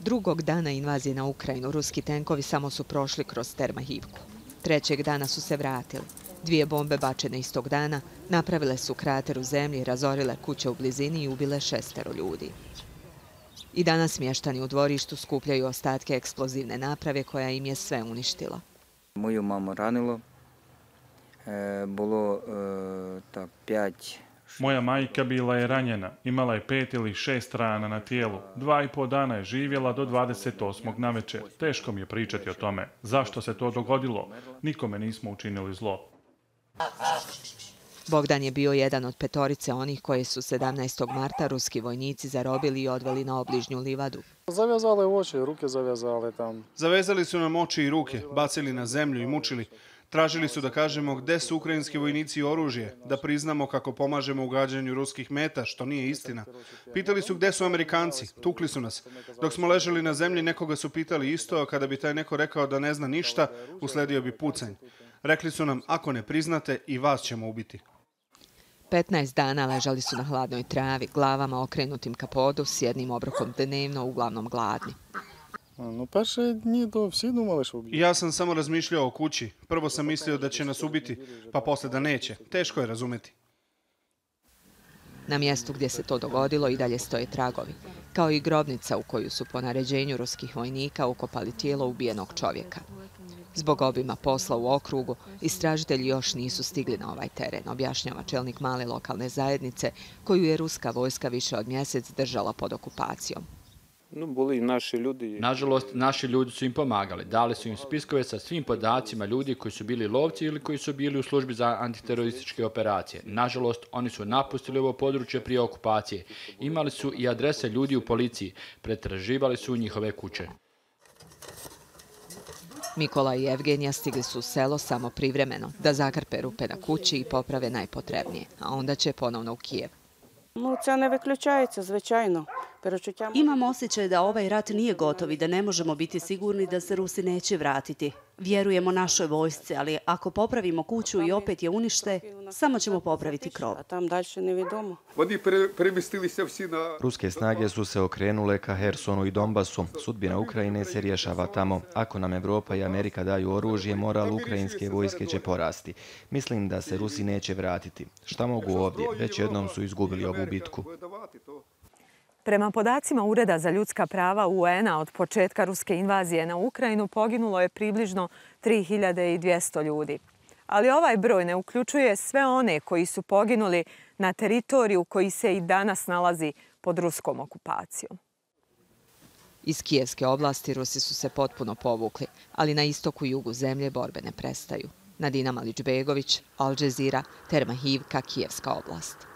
Drugog dana invazije na Ukrajinu ruski tenkovi samo su prošli kroz Termahivku. Trećeg dana su se vratili. 2 bombe bačene istog dana napravile su krater u zemlji, razorile kuće u blizini i ubile 6 ljudi. I danas mještani u dvorištu skupljaju ostatke eksplozivne naprave koja im je sve uništila. Moju mamu ranilo. Bilo 5. Moja majka bila je ranjena, imala je 5 ili 6 rana na tijelu. 2,5 dana je živjela do 28. navečer. Teško mi je pričati o tome. Zašto se to dogodilo? Nikome nismo učinili zlo. Bogdan je bio jedan od 5 onih koje su 17. marta ruski vojnici zarobili i odveli na obližnju livadu. Zavezali oči, ruke zavezali tam. Zavezali su nam oči i ruke, bacili na zemlju i mučili. Tražili su da kažemo gde su ukrajinski vojnici i oružje, da priznamo kako pomažemo u gađanju ruskih meta, što nije istina. Pitali su gde su Amerikanci, tukli su nas. Dok smo ležali na zemlji, nekoga su pitali isto, a kada bi taj neko rekao da ne zna ništa, usledio bi pucanj. Rekli su nam, ako ne priznate, i vas ćemo ubiti. 15 dana ležali su na hladnoj travi, glavama okrenutim ka podu, s jednim obrokom dnevno, uglavnom gladni. Ja sam samo razmišljao o kući. Prvo sam mislio da će nas ubiti, pa posle da neće. Teško je razumeti. Na mjestu gdje se to dogodilo i dalje stoje tragovi, kao i grobnica u koju su po naređenju ruskih vojnika ukopali tijelo ubijenog čovjeka. Zbog obima posla u okrugu, istražitelji još nisu stigli na ovaj teren, objašnjava čelnik male lokalne zajednice koju je ruska vojska više od mjesec držala pod okupacijom. Nažalost, naši ljudi su im pomagali. Dali su im spiskove sa svim podacima ljudi koji su bili lovci ili koji su bili u službi za antiterorističke operacije. Nažalost, oni su napustili ovo područje prije okupacije. Imali su i adrese ljudi u policiji. Pretraživali su njihove kuće. Mikola i Evgenija stigli su u selo samo privremeno, da zakrpe rupe na kući i poprave najpotrebnije, a onda će ponovno u Kijev. Це не виключається, звичайно. Imam osjećaj da ovaj rat nije gotov i da ne možemo biti sigurni da se Rusi neće vratiti. Vjerujemo našoj vojsci, ali ako popravimo kuću i opet je unište, samo ćemo popraviti krov. Ruske snage su se okrenule ka Hersonu i Donbasu. Sudbina Ukrajine se rješava tamo. Ako nam Evropa i Amerika daju oružje, moral ukrajinske vojske će porasti. Mislim da se Rusi neće vratiti. Šta mogu ovdje? Već jednom su izgubili ovu bitku. Prema podacima Ureda za ljudska prava UN-a od početka ruske invazije na Ukrajinu poginulo je približno 3200 ljudi. Ali ovaj broj ne uključuje sve one koji su poginuli na teritoriju koji se i danas nalazi pod ruskom okupacijom. Iz Kijevske oblasti Rusi su se potpuno povukli, ali na istoku i jugu zemlje borbe ne prestaju. Nadina Malić-Begović, Al Jazeera, Termahivka, Kijevska oblast.